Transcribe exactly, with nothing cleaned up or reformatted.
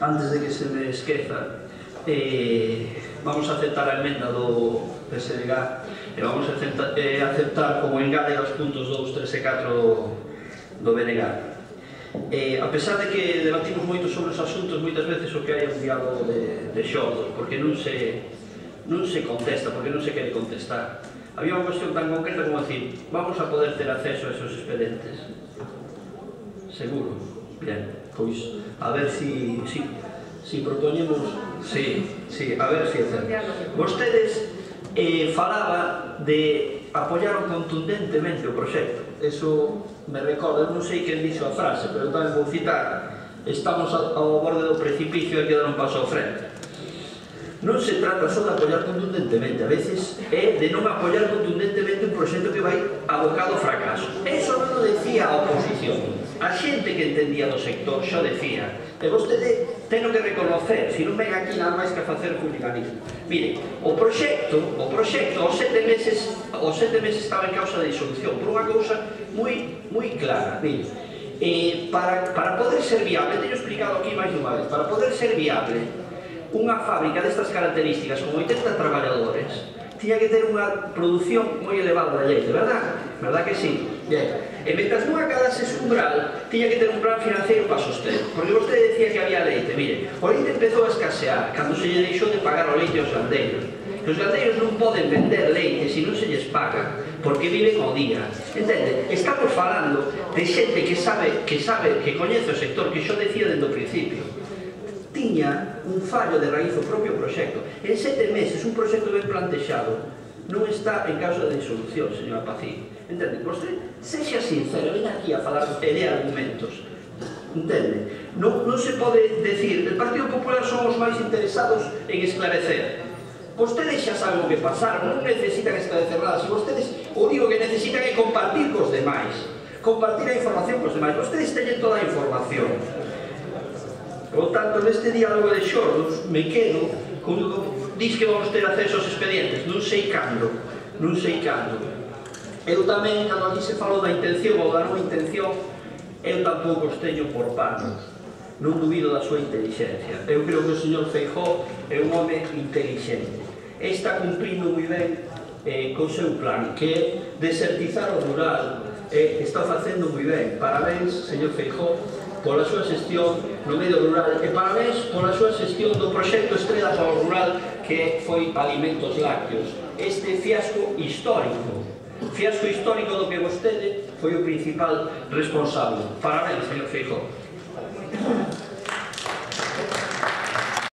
Antes de que se me esqueza, eh, vamos a aceptar a emenda do P S D G e vamos a aceptar, eh, aceptar como engade os puntos dous, tres e catro do B N G. Eh, a pesar de que debatimos moito sobre os asuntos, moitas veces o que hai é un diálogo de, de xordos, porque non se, non se contesta, porque non se quere contestar. Había unha cuestión tan concreta como decir, vamos a poder ter acceso a esos expedientes. Seguro. Bien, pois, a ver si, si, si propoñemos, si, si, a ver si é certo. Vostedes eh, falaba de apoiaron contundentemente o proxecto. Eso me recorda, non sei quen dixo a frase, pero tamén vou citar, estamos ao borde do precipicio e hai que dar un paso ao frente. Non se trata só de apoiar contundentemente, a veces é de non apoiar contundentemente un proxecto que vai abocado ao fracaso. Eso non o decía a oposición. A xente que entendía do sector xa decía, e vostede teno que reconocer, se non ven aquí nada máis que a facer publicanismo. Mire, o proxecto, o proxecto aos sete meses, aos sete meses estaba en causa de disolución, por unha cousa moi, moi clara. Mire, eh, para, para poder ser viable, teño explicado aquí máis dunha vez, para poder ser viable, unha fábrica destas características con oitenta traballadores tiña que ter unha produción moi elevada de leite, verdad? Verdad que sí? Bien. E mentras non acadase ese umbral, tiña que ter un plan financiero para soster. Porque vostede decía que había leite. Mire, o leite empezou a escasear cando se lle deixou de pagar o leite aos gandeiros. Os gandeiros non poden vender leite se non se lles paga, porque viven ao día. Entende? Estamos falando de xente que sabe, que sabe, que coñece o sector, que xo decía dende o principio. Tiña un fallo de raíz o propio proxecto. En sete meses, un proxecto ben plantexado non está en causa de disolución, señora Pacín. Entende? Vostede, sexa sincera, ven aquí a falar e de argumentos. Entende? Non, non se pode decir, el Partido Popular son os máis interesados en esclarecer. Vostedes xa saben o que pasaron, non necesitan esclarecer nada. Se vostedes o único que necesitan é compartir cos demais. Compartir a información cos demais. Vostedes teñen toda a información. Por tanto, neste diálogo de xordos, me quedo con diz que vamos ter acceso aos expedientes, non sei cando, non sei cando. Eu tamén, cando aquí se falou da intención ou da non intención, eu tampouco os teño por panos, non dubido da súa inteligencia. Eu creo que o señor Feijóo é un home inteligente. Está cumprindo moi ben eh, co seu plan, que é desertizar o rural, eh, está facendo moi ben. Parabéns, señor Feijóo, pola súa xestión no medio rural e parabéns pola súa xestión do proxecto Estrela para o rural que foi Alimentos Lácteos. Este fiasco histórico, fiasco histórico do que vostede foi o principal responsable. Parabéns, señor Feijóo.